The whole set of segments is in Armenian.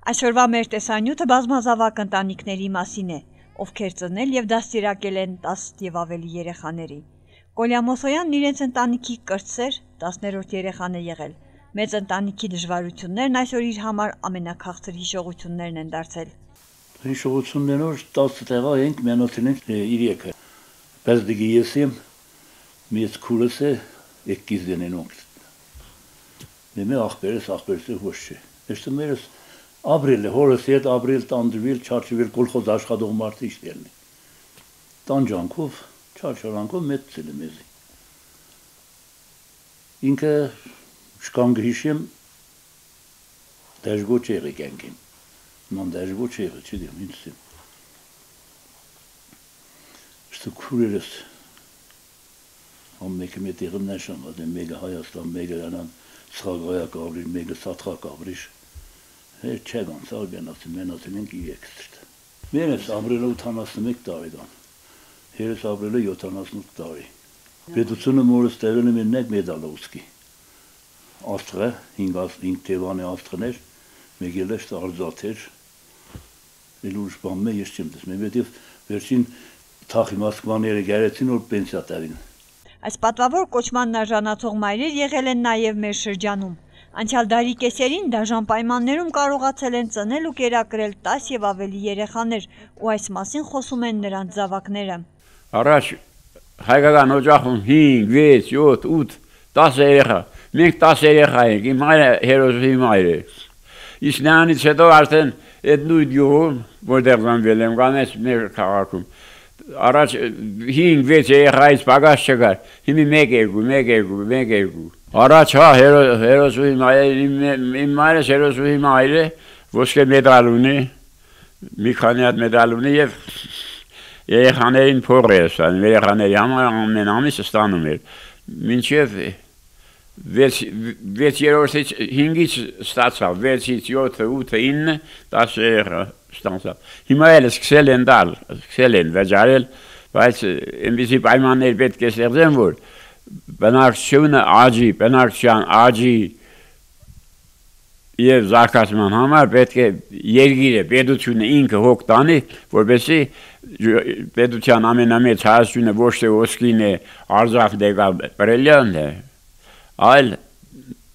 Այսօրվա մեր տեսանյութը բազմազավակ ընտանիքների մասին է, ովքեր ծնել և դաստիարակել են 10 և ավելի երեխաների։ Կոլյա Մոսոյանն իրենց ընտանիքի կրտսեր 10-րդ երեխան է եղել։ Մեծ ընտանիքի դժվարություններն այսօր իր համար ամենաքաղցր հիշողություններն են դարձել։ Հիշողություններով 10 տեղա ենք մենացել ենք իր եկը։ Բայց դիգի ես եմ մեծ քուրս է եկից դենենոք։ Դեմե ախպերս ոչ չէ։ Էստը մերս ապրիլ է, հորս հետ ապրիլ տանդրվել, չարչվել կոլխոզ աշխատող մարդ իշտելն է։ Տանջանքով, չարչարանքով մեծել է մեզի։ Ինքը շկան գհիշեմ դեժգո չեղի կենքին։ Ման դեժգո չեղի, չդեմ, ինձ եմ։ Շտը քուրերս ամեկը մետ եղմ նաշան, ադեմ մեգը Հայաստան, մեգը անան սխագայակ ավրիր, մեգը սատխակ ավրիր։ Չեղ անցալ մենացել ենք իր եկստրտ։ Մերս ապրելը 81 տարեկան, հերս ապրելը 78 տարի։ Պետությունը մորս տեղել եմ իրնեք մեդալովսկի։ Աստղը, 5 թևանի աստղներ, մեկ էլ էշտ արձաթեր, էլ ուրիշ բան մե ես չեմ տեսնում, հետև վերջին թախի Մոսկվաները գարեցին, որ պենսիա տալին։ Այս պատվավոր կոչմանն արժանացող մայրեր եղել են նաև մեր շրջանում։ Անցյալ դարի կեսերին դաժան պայմաններում կարողացել են ծնել ու կերակրել 10 և ավելի երեխաներ, ու այս մասին խոսում են նրանց զավակները։ Առաջ հայկական օջախում 5, 6, 7, 8, 10 երեխա, մենք 10 երեխա ենք, իմ մայրը հերոսի մայր է։ Իսկ նրանից հետո արդեն այդ նույն գյուղում, որտեղ ծնվել եմ, կամ այս մեր քաղաքում, առաջ 5-6 երեխայից պակաս չկար, հիմի 1-2 Առաջ հա հերոսուհի մայր, իմ մայրս հերոսուհի մայր է, ոսկե մեդալ ունի, մի քանի հատ մեդալ ունի և երեխաներին փող է ստանում, երեխաների համար ամեն ամիս ստանում էր, մինչև 6-րդից 5-ից ստացավ, 6-ից 7, 8, 9, 10 երեխա ստացավ։ Հիմա էլ սկսել են տալ, սկսել են վճարել, բայց այնպիսի պայմաններ պետք է ստեղծեն, որ բնակչությունը աճի, բնակչության աճի և զարգացման համար պետք է երկիրը, պետությունը ինքը հոգ տանի, որպեսզի պետության ամենամեծ հարստությունը ոչ թե ոսկին է, արձակն է կամ պրելյանն է, այլ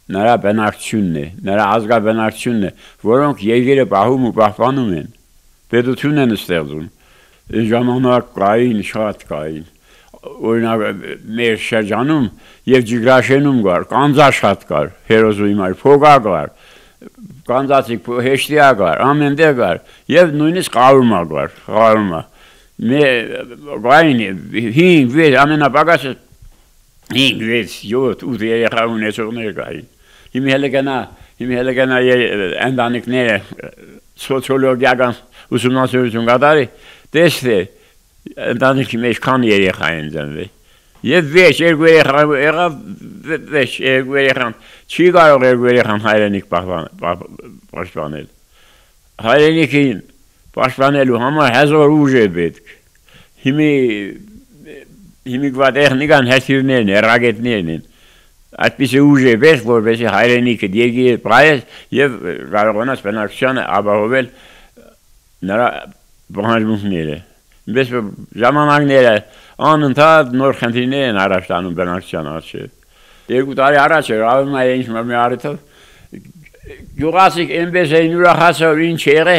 նրա բնակչությունն է, նրա ազգաբնակչությունն է, որոնք երկիրը պահում ու պահպանում են, պետություն են ստեղծում, ժամանակ կային, շատ կային։ Օրինակ մեր շրջանում և Ջիգրաշենում կար, կանձաշատ կար, հերոսուհի մայր, փոգա կար, կանձացիկ հեշտիա կար, ամեն տեղ կար, և նույնիսկ Ղարումա կար, Ղարումա։ Կային 5-6 ամենապակասը 5-6 7 8 երեխա ունեցողներ կային։ Հիմի հələ գնա ընտանիքները սոցիոլոգիական ուսումնասիրություն կատարի, տեսնի ընտանիքի մեջ քան երեխա են ծնվել։ Եվ 2 երեխա եղավ, 2 երեխան չի կարող 2 երեխան հայրենիք պաշտպանել։ Հայրենիքին պաշտպանելու համար հազար ուժ է պետք։ Հիմի կվա տեխնիկան հրթիռներն են, ռակետներն են։ Այդպիսի ուժ է պետք, որպեսզի հայրենիքը երկիրը պահես և կարողանաս բնակչությանը ապահովել նրա պահանջմունքները։ Բայց ժամանակները անընդհատ նոր խնդիրներ են առաջ տանում բնակչության առջև։ 2 տարի առաջ էր ավելում է ինչ մի առիթով գյուղացիք այնպես էին ուրախացել, որ ինչ եղե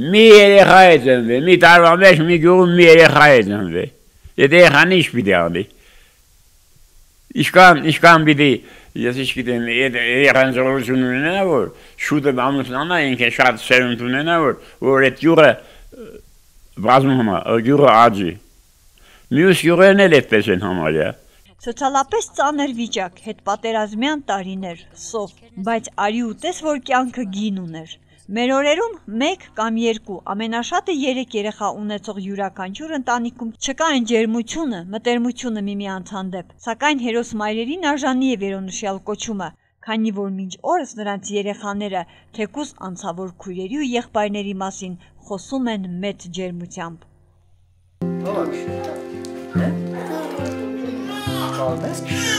մի երեխա է ծնվել, մի տարվա մեջ մի գյուղում մի երեխա է ծնվել։ Այդ երեխան ինչ պիտի անի։ Ինչքան պիտի, ես ինչ գիտեմ, այդ երեխան զորություն ունենա, որ շուտը ամուսնանա, ինքը շատ սերունդ ունենա, որ այդ գյուղը բազմում է, գյուղը աճի։ Մյուս գյուղերն էլ այդպես են համարյա։ Սոցիալապես ծանր վիճակ, հետպատերազմյան տարիներ, սով, բայց արի ու տես, որ կյանքը գին ուներ։ Մեր օրերում 1 կամ 2, ամենաշատը 3 երեխա ունեցող յուրաքանչյուր ընտանիքում չկա այն ջերմությունը, մտերմությունը միմյանց հանդեպ, սակայն հերոս մայրերին արժանի է վերոնշյալ կոչումը, քանի որ մինչ օրս նրանց երեխաները թեկուզ անցավոր քույրերի ու եղբայրների մասին խոսում են մեծ ջերմությամբ։ Kalmaz.